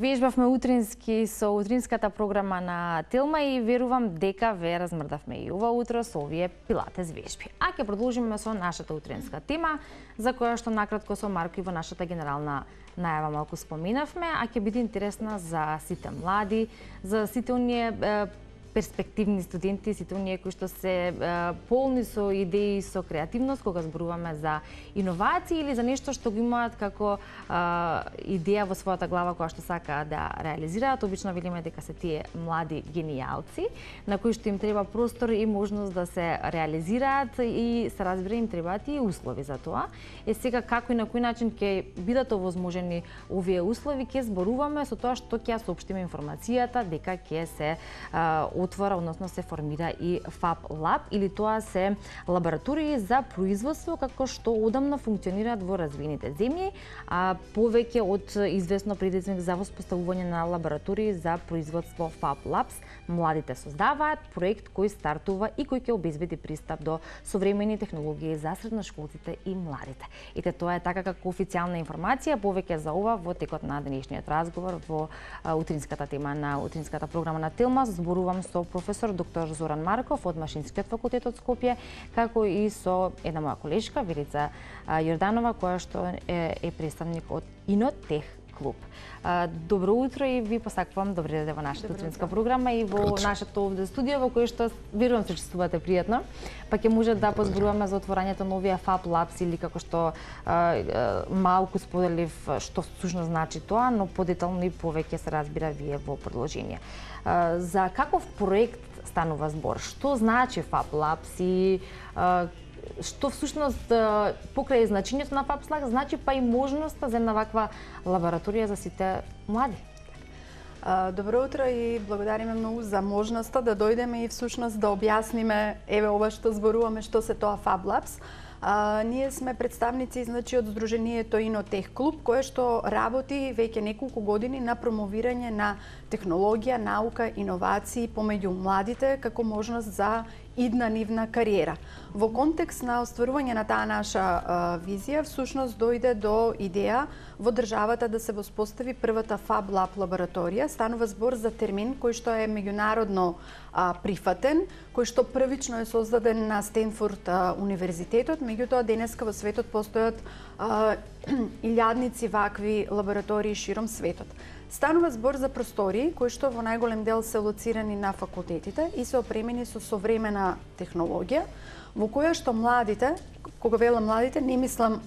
Вежбавме утрински со утринската програма на Телма и верувам дека ве размрдавме и ова утро со овие пилатес вежби. А ќе продолжиме со нашата утринска тема, за која што накратко со Марко и во нашата генерална најава малку споменавме, а ќе биде интересна за сите млади, за сите оние перспективни студенти, сите оние кои што се полни со идеи, со креативност, кога зборуваме за иновации или за нешто што го имаат како идеја во својата глава која што сакаат да реализираат. Обично велиме дека се тие млади генијалци, на кои што им треба простор и можност да се реализираат и се разбира им требаат и услови за тоа. Сега како и на кој начин ќе бидат овозможени овие услови, ќе зборуваме со тоа што ќе ја соопштиме информацијата дека ќе се отвора, односно се формира и Fab Lab, или тоа се лаборатории за производство како што одамна функционираат во развиените земји, а повеќе од известно предизвик за воспоставување на лаборатории за производство Fab Labs. Младите создаваат проект кој стартува и кој ќе обезбеди пристап до современи технологии за средношколците и младите. Ете, тоа е така како официјална информација, повеќе за ова во текот на денешниот разговор во утринската тема на утринската програма на Телма. Зборувам со професор доктор Зоран Марков од Машинскиот факултет од Скопје, како и со една моја колешка Велица Јорданова, која што е представник од Инотех клуб. Добро утро и ви посакувам добри дојде во нашата утринска програма и во нашето овде студио, во кое што верувам се чувствувате пријатно, па ќе може да позборуваме за отворањето на овие Fab Labs или како што малку споделив што всушност значи тоа, но подетално и повеќе се разбира вие во продолжение. За каков проект станува збор? Што значи Fab Labs и што всушност покрај значењето на Fab Labs значи па и можноста за една ваква лабораторија за сите млади? Добро утро и благодариме многу за можноста да дојдеме и всушност да објасниме еве ова што зборуваме што се тоа Fab Labs. Ние сме представници од Сдруженијето Инотех клуб, кое што работи веќе неколку години на промовирање на технологија, наука, иновации помеѓу младите како можност за идна нивна кариера. Во контекст на остварување на таа наша визија, всушност дојде до идеја во државата да се воспостави првата Fab Lab лабораторија. Станува збор за термин кој што е меѓународно прифатен, кој што првично е создаден на Стенфорд универзитетот, меѓутоа денеска во светот постојат илјадници вакви лаборатории широм светот. Станува збор за простории кои што во најголем дел се лоцирани на факултетите и се опремени со современа технологија, во која што младите, кога велам младите, не мислам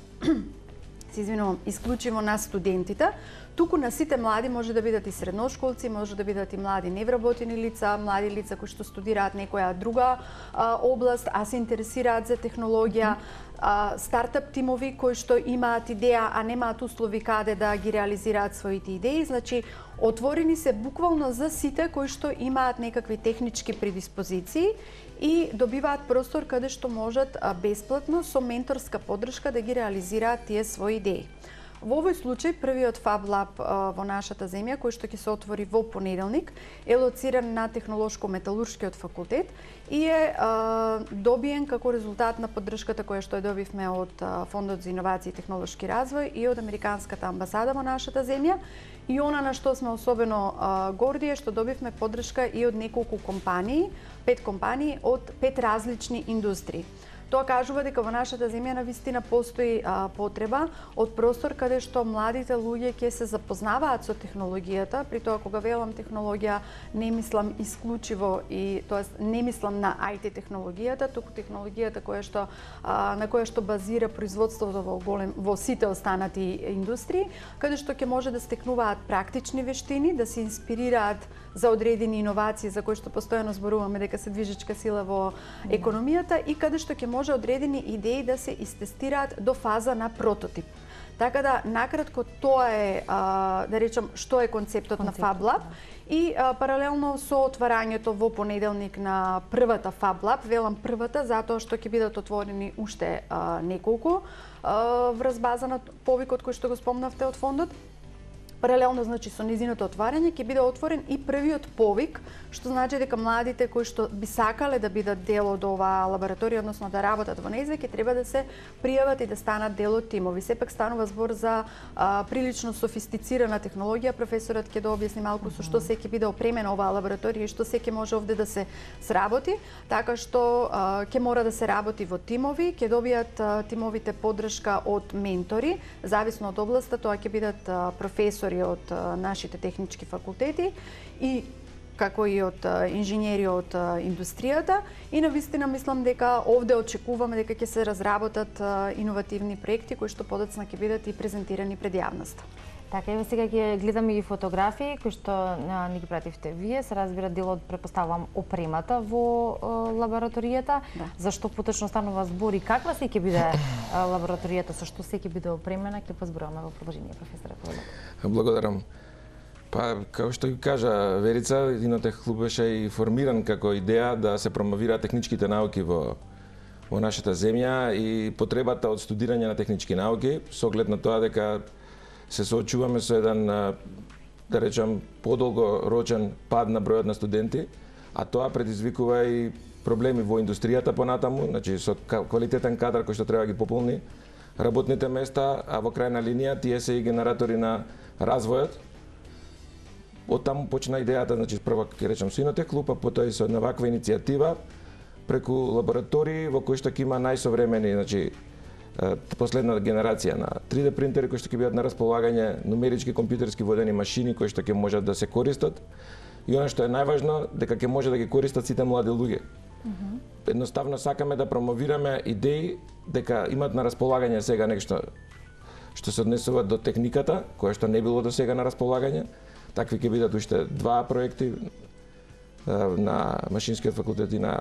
се извинувам, исклучиво на студентите, туку на сите млади, може да бидат и средношколци, може да бидат и млади невработени лица, млади лица кои што студираат некоја друга област, а се интересираат за технологија, стартап тимови кои што имаат идеја, а немаат услови каде да ги реализираат своите идеи. Значи, отворени се буквално за сите кои што имаат некакви технички предиспозиции и добиваат простор каде што можат бесплатно со менторска поддршка да ги реализираат тие своји идеи. Во овој случај, првиот Fab Lab во нашата земја, кој што ќе се отвори во понеделник, е лоциран на Технолошко-металуршкиот факултет и е добиен како резултат на поддршката која што ја добивме од Фондот за иновации и технолошки развој и од Американската амбасада во нашата земја. И она на што сме особено горди е што добивме поддршка и од неколку компании, 5 компании од 5 различни индустрии. Тоа кажува дека во нашата земја навистина постои потреба од простор каде што младите луѓе ќе се запознаваат со технологијата. При тоа, кога велам технологија, не мислам исклучиво и тоест не мислам на IT технологијата, туку технологијата на која што базира производството во сите останати индустрии, каде што ќе може да стекнуваат практични вештини, да се инспирираат за одредени иновации за кои што постојано зборуваме дека се движечка сила во економијата и каде што ќе може одредени идеи да се истестираат до фаза на прототип. Така да, накратко, тоа е, да речам, што е концептот на Fab Lab и паралелно со отварањето во понеделник на првата Fab Lab, велам првата, затоа што ќе бидат отворени уште неколку врз база на повикот кој што го спомнавте од фондот. Паралелно, значи, со низиното отварање ќе биде отворен и првиот повик, што значи дека младите кои што би сакале да бидат дел од оваа лабораторија, односно да работат во нејза, ќе треба да се пријават и да станат дел од тимови. Сепак станува збор за прилично софистицирана технологија. Професорот ќе да објасни малку со што се ќе биде опремена оваа лабораторија и што се ќе може овде да се сработи, така што ќе мора да се работи во тимови, ќе добијат тимовите поддршка од ментори, зависно од областа, тоа ќе бидат професори од нашите технички факултети и како и од инженери од индустријата, и навистина мислам дека овде очекуваме дека ќе се разработат иновативни проекти кои што подоцна ќе бидат и презентирани пред јавноста. Така, еве сега ќе гледаме и фотографии кои што ни ги пративте вие, се разбира дел од, претпоставувам, опремата во лабораторијата. Да. Зашто поточно станува збор и каква се ќе биде лабораторијата, со што се ќе биде опремена, ќе позборуваме во продолжение, професоре Ковалев. Благодарам. Па, како што ги кажа Верица, Инотех клуб беше и формиран како идеја да се промовираат техничките науки во нашата земја и потребата од студирање на технички науки, со оглед на тоа дека се соочуваме со еден, да речам, подолгорочен пад на бројот на студенти, а тоа предизвикува и проблеми во индустријата понатаму, значи со квалитетен кадар кој што треба да ги пополни работните места, а во крајна линија тие се и генератори на развојот. Од таму почна идејата, значи прво ќе речам со Инотех клуб, а потоа и со една ваква иницијатива преку лаборатории во кои што ќе има најсовремени, значи последна генерација на 3D принтери кои што ќе бидат на располагање, нумерички компјутерски водени машини кои што ќе можат да се користат и она што е најважно дека ќе може да ги користат сите млади луѓе. Едноставно сакаме да промовираме идеи дека имат на располагање сега нешто што се однесува до техниката, која што не било до сега на располагање. Такви ќе бидат уште два проекти на Машинскиот факултет и на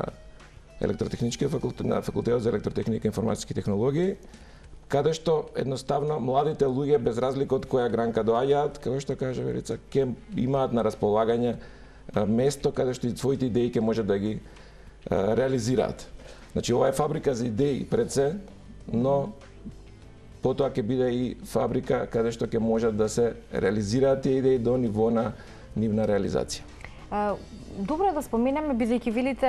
Електротехничкиот факултет, на Факултетот за електротехника и информатски технологии, каде што едноставно младите луѓе без разлика од која гранка доаѓаат, како што кажа Верица, ќе имаат на располагање место каде што и своите идеи ќе можат да ги реализираат. Значи ова е фабрика за идеи пред се, но потоа ќе биде и фабрика каде што ќе можат да се реализираат тие идеи до ниво на нивна реализација. Добро е да споменеме, бидејќи велите,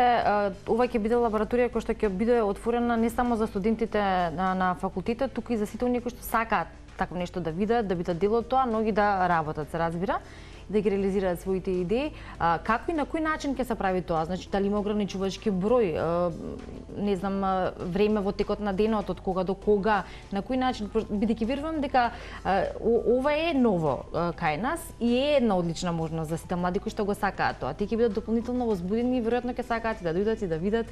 ова ќе биде лабораторија која што ќе биде отворена не само за студентите на факултетот, туку и за сите оние кои што сакаат такво нешто да видат, да бидат дел од тоа, но и да работат, се разбира, да ги реализираат своите идеи. Како и на кој начин ќе се прави тоа? Значи, дали има ограничувачки број, не знам, време во текот на денот, од кога до кога, на кој начин, бидејќи верувам дека ова е ново кај нас и е една одлична можност за сите млади кои што го сакаат тоа. Тие ќе бидат дополнително возбудени и веројатно ќе сакаат и да дојдат и да видат,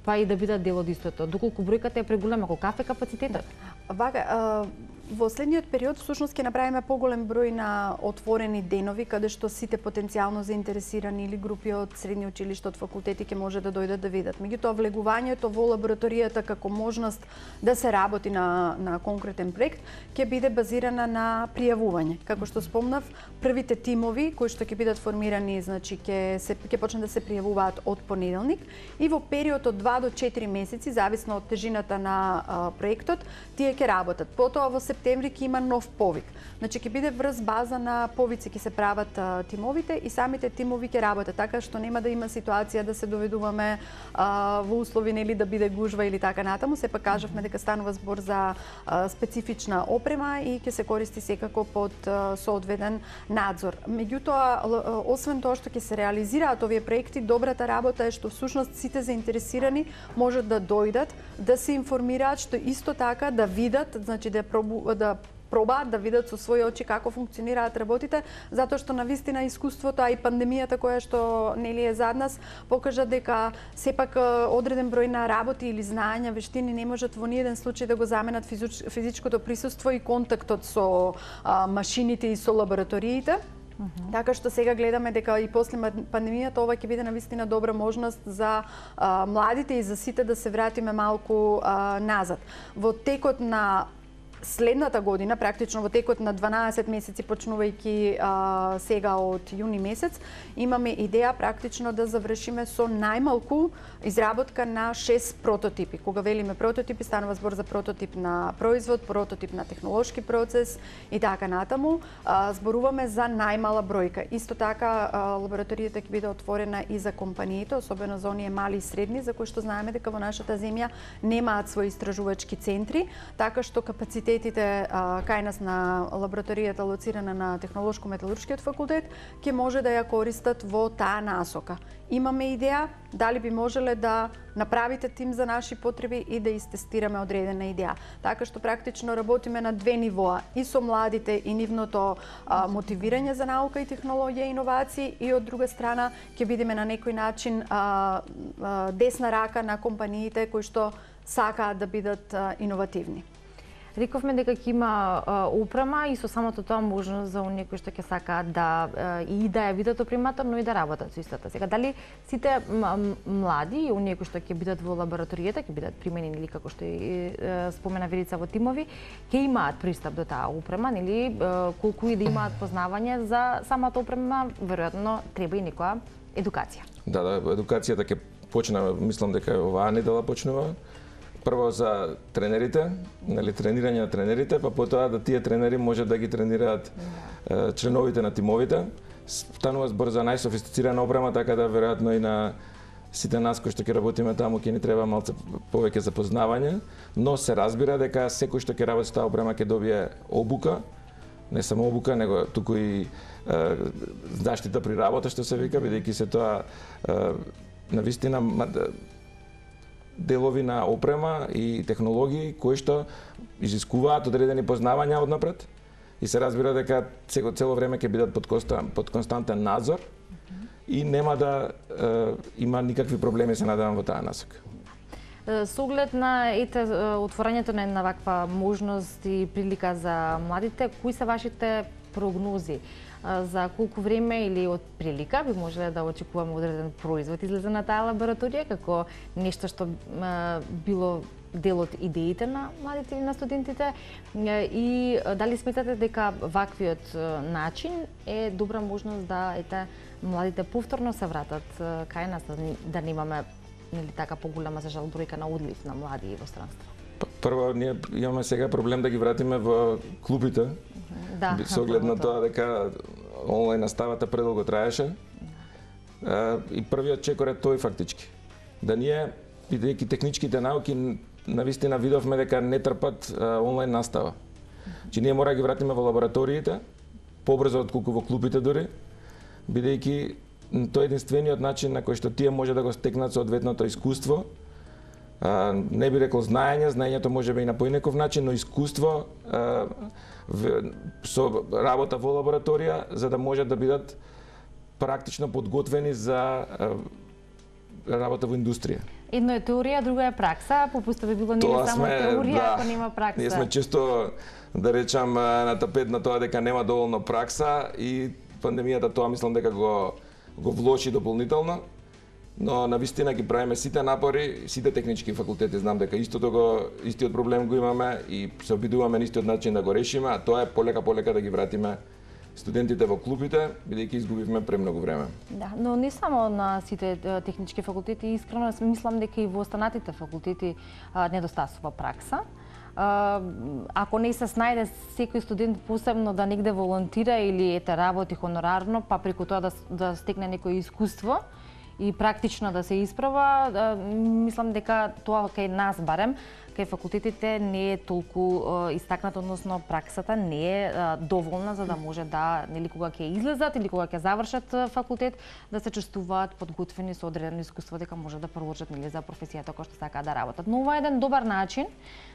па и да бидат дел од истото. Доколку бројката е преголема, колкав е капацитетот? Вака, во следниот период всушност ќе направиме поголем број на отворени денови каде што сите потенцијално заинтересирани или групи од средни училишта, од факултети ќе може да дојдат да видат. Меѓутоа влегувањето во лабораторијата како можност да се работи на конкретен проект ќе биде базирана на пријавување. Како што спомнав, првите тимови кои што ќе бидат формирани, значи ќе почнат да се пријавуваат од понеделник и во период од 2 до 4 месеци, зависно од тежината на проектот, тие ќе работат. Потоа во септември ќе има нов повик. Значи ќе биде врз база на повици ќе се прават тимовите и самите тимови ќе работат, така што нема да има ситуација да се доведуваме во услови нели да биде гужва или така натаму. Сепак кажавме дека станува збор за специфична опрема и ќе се користи секако под соодветен надзор. Меѓутоа, освен тоа што ќе се реализираат овие проекти, добрата работа е што всушност сите заинтересирани можат да дојдат, да се информираат, што исто така да видат, значи да пробаат да видат со своји очи како функционираат работите, затоа што навистина искуството, а и пандемијата која што нели е зад нас, покажа дека сепак одреден број на работи или знаења, вештини не можат во ниеден случај да го заменат физичкото присуство и контактот со машините и со лабораториите. Така што сега гледаме дека и после пандемијата ова ќе биде навистина добра можност за младите и за сите да се вратиме малку назад. Во текот на следната година, практично во текот на 12 месеци, почнувајќи сега од јуни месец, имаме идеја практично да завршиме со најмалку изработка на 6 прототипи. Кога велиме прототипи, станува збор за прототип на производ, прототип на технолошки процес и така натаму. Зборуваме за најмала бројка. Исто така, лабораторијата ќе биде отворена и за компаниите, особено за оние мали и средни, за кои што знаеме дека во нашата земја немаат своји истражувачки центри, така што капацитетите кај нас на лабораторијата лоцирана на Технолошко-металуршкиот факултет ќе може да ја користат во таа насока. Имаме идеја дали би можеле да направите тим за наши потреби и да истестираме одредена идеја. Така што практично работиме на две нивоа, и со младите и нивното мотивирање за наука и технологија и иновации, и од друга страна ќе бидеме на некој начин десна рака на компаниите кои што сакаат да бидат иновативни. Рековме дека ќе има опрема и со самото тоа можност за оние кои што ќе сакаат да и да ја видат опремата, но и да работат со истата. Сега, дали сите млади и оние кои што ќе бидат во лабораторијата, ќе бидат применени или како што и спомена Верица во тимови, ќе имаат пристап до таа опрема, нели, колку и да имаат познавање за самата опрема, веројатно треба и некоја едукација. Да, едукацијата ќе почне, мислам дека оваа недела почнува. Прво за тренерите, нели, тренирање на тренерите, па потоа да тие тренери може да ги тренираат членовите на тимовите. Станува збор за најсофистицирана опрема, така да веројатно и на сите нас кои што ќе работиме таму ќе ни треба малце повеќе запознавање, но се разбира дека секој што ќе работи со таа опрема ќе добие обука, не само обука, него туку и заштита при работа, што се вика, бидејќи се тоа навистина делови на опрема и технологии кои што изискуваат одредени познавања однапред и се разбира дека цело време ќе бидат под константен надзор и нема да има никакви проблеми, се надевам, во таа насока. Со оглед на отворањето на една ваква можност и прилика за младите, кои се вашите прогнози? За колку време или од прилика би можеле да очекуваме одреден производ излезе на таа лабораторија како нешто што било дел од идеите на младите и на студентите, и дали сметате дека ваквиот начин е добра можност да младите повторно се вратат кај нас, да немаме, нели така, поголема за жал бројка на одлив на млади во странство? Прво, ние имаме сега проблем да ги вратиме во клубите, со оглед на тоа дека онлайн наставата предолго траеше. И првиот чекор е тој фактички. Да ние, бидејќи техничките науки, навистина видовме дека не трпат онлайн настава. Че ние мора да ги вратиме во лабораториите, побрзо отколку во клубите дури, бидејќи тоа е единствениот начин на кој што тие може да го стекнат соодветното искуство. Не би рекол знаењето може би и на поинеков начин, но искуство со работа во лабораторија, за да може да бидат практично подготвени за работа во индустрија. Едно е теорија, друго е пракса, попуста би било не само теорија, ако нема пракса. Ние сме често, да речам, на тапет на тоа дека нема доволно пракса и пандемијата тоа мислам дека го влоши дополнително. Но навистина ги правиме сите напори, сите технички факултети, знам дека истиот проблем го имаме и се обидуваме на истиот начин да го решиме, а тоа е полека да ги вратиме студентите во клубите, бидејќи изгубивме премногу време. Да, но не само на сите технички факултети, искрено мислам дека и во останатите факултети недостасува пракса. Ако не се снајде секој студент посебно да негде волонтира или работи хонорарно, па преку тоа да стекне некој искуство и практично да се исправа, мислам дека тоа кај нас барем, кај факултетите не е толку истакнато, односно праксата не е доволна за да може да, нели, кога ќе излезат или кога ќе завршат факултет, да се чувствуваат подготвени со одредено искуство дека може да продолжат, нели, за професијата која што сакаат да работат. Но ова е еден добар начин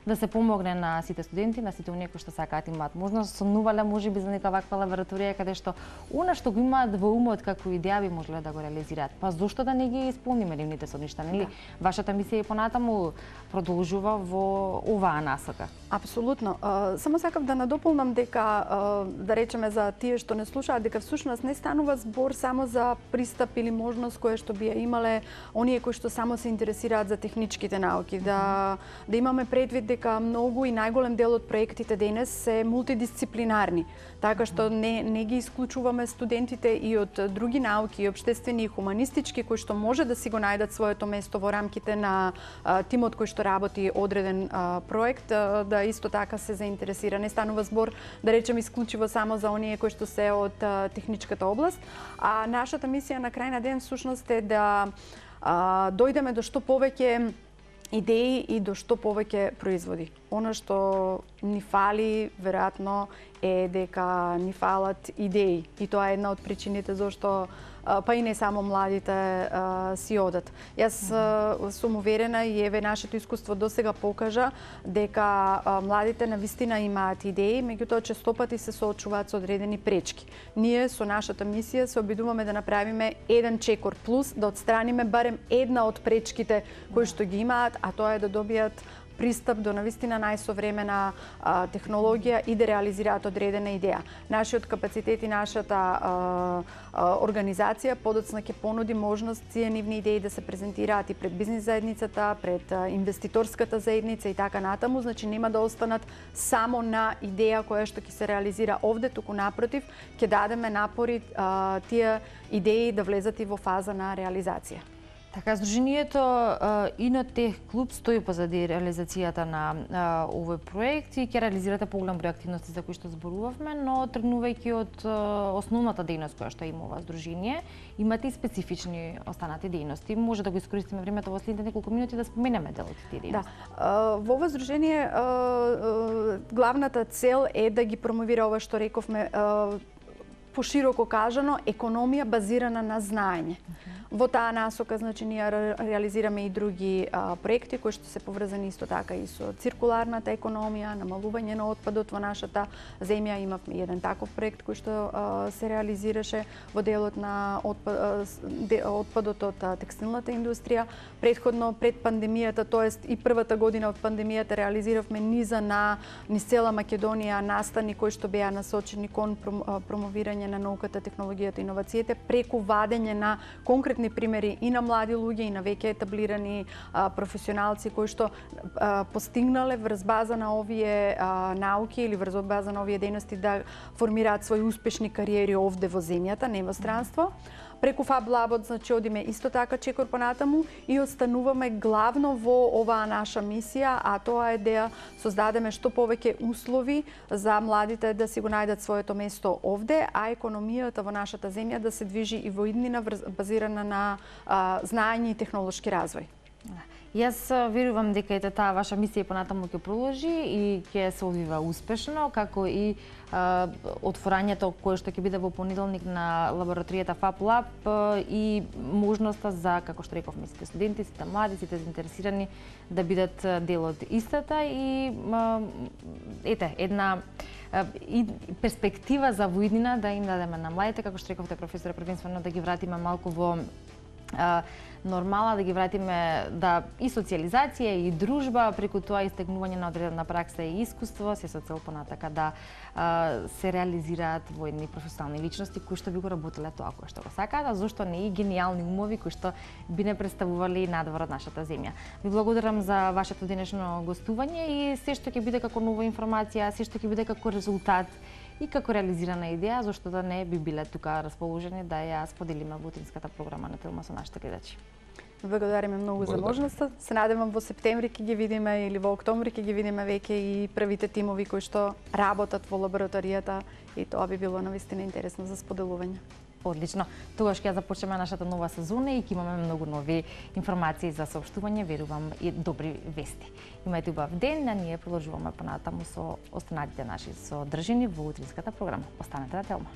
да се помогне на сите студенти, на сите оние кои што сакаат имаат можност, сонувале можеби за нека ваква лабораторија каде што она што го имаат во умот како идеја би можеле да го реализираат. Па зошто да не ги исполниме нивните соништа, нели? Вашата мисија и понатаму продолжува во оваа насока. Апсолутно. Само сакав да надополнам дека, да речеме за тие што не слушаат, дека всушност не станува збор само за пристап или можност која што би ја имале оние кои што само се интересираат за техничките науки. Да имаме предвид дека многу и најголем дел од проектите денес се мултидисциплинарни, така што не ги исклучуваме студентите и од други науки, и општествени и хуманистички, кои што може да си го најдат своето место во рамките на тимот кој што работи одреден проект, да исто така се заинтересира. Не станува збор, да речем, исклучиво само за оние кои што се од техничката област, а нашата мисија на крај на ден всушност е да дојдеме до што повеќе идеи и до што повеќе производи. Она што ни фали, веројатно, е дека ни фалат идеи. И тоа е една од причините зашто па и не само младите си одат. Јас сум уверена и еве нашето искуство досега покажа дека младите навистина имаат идеи, меѓутоа честопати се соочуваат со одредени пречки. Ние со нашата мисија се обидуваме да направиме еден чекор плюс, да отстраниме барем една од пречките кои што ги имаат, а тоа е да добијат пристап до навистина најсовремена технологија и да реализираат одредена идеја. Нашиот капацитет и нашата организација подоцна ќе понуди можност тие нивни идеи да се презентираат и пред бизнис заедницата, пред инвеститорската заедница и така натаму, значи нема да останат само на идеја која што ќе се реализира овде, туку напротив, ќе дадеме напори тие идеи да влезат и во фаза на реализација. Така, Сдруженијето Инотех клуб стои позади реализацијата на овој проект и ќе реализирате поголем број активности за кои што зборувавме, но тргнувајќи од основната дејност која што има ова Сдружение, имате и специфични останати дејности. Може да го искористиме времето во следните неколку минути да споменеме дел од тие дејности. Да. Во ова Сдружение главната цел е да ги промовира ова што рековме, пошироко кажано, економија базирана на знаење. Во таа насока, значи, ние реализираме и други проекти кои што се поврзани исто така и со циркуларната економија, намалување на отпадот во нашата земја. Имавме еден таков проект кој што се реализираше во делот на отпадот од текстилната индустрија. Претходно, пред пандемијата, тоест и првата година од пандемијата, реализиравме низ цела Македонија настани кои што беа насочени кон промовирање на науката, технологијата и иновациите преку вадење на конкретни примери и на млади луѓе и на веќе етаблирани професионалци кои што постигнале врз база на овие науки или врз база на овие дејности да формираат своји успешни кариери овде во земјата, не во странство. Преку Fab Labот, значи, одиме исто така чекор понатаму и остануваме главно во оваа наша мисија, а тоа е да создадеме што повеќе услови за младите да си го најдат своето место овде, а економијата во нашата земја да се движи и во иднина базирана на знаење и технолошки развој. Јас верувам дека ете таа ваша мисија понатаму ќе продолжи и ќе се одвива успешно, како и отворањето кое што ќе биде во понеделник на лабораторијата Fab Lab и можноста за, како што рековме, сите студенти, сите млади, сите заинтересирани да бидат дел од истата и една и перспектива за воиднина да им дадеме на младите, како што рековте, професоре, првенствено да ги вратиме малку во нормала, да ги вратиме и социјализација и дружба, преку тоа истегнување на одредена пракса и искуство, се со цел понатака да се реализираат во едни професионални личности кои што би го работеле тоа кој што го сакаат, а зошто не и гениални умови кои што би не представувале надвор од нашата земја. Ви благодарам за вашето денешно гостување и се што ќе биде како нова информација, се што ќе биде како резултат и како реализирана идеја, зашто да не би биле тука расположени да ја споделиме во утринската програма на Телма со нашите гледачи. Благодариме многу за можноста. Се надевам во септември ќе ги видиме или во октомври ќе ги видиме веќе и првите тимови кои што работат во лабораторијата и тоа би било навистина интересно за споделување. Одлично. Тогаш ќе започнеме нашата нова сезона и ќе имаме многу нови информации за соопштување, верувам и добри вести. Имајте убав ден, а ние продолжуваме понатаму со останатите наши содржини во утринската програма. Останете на Телма.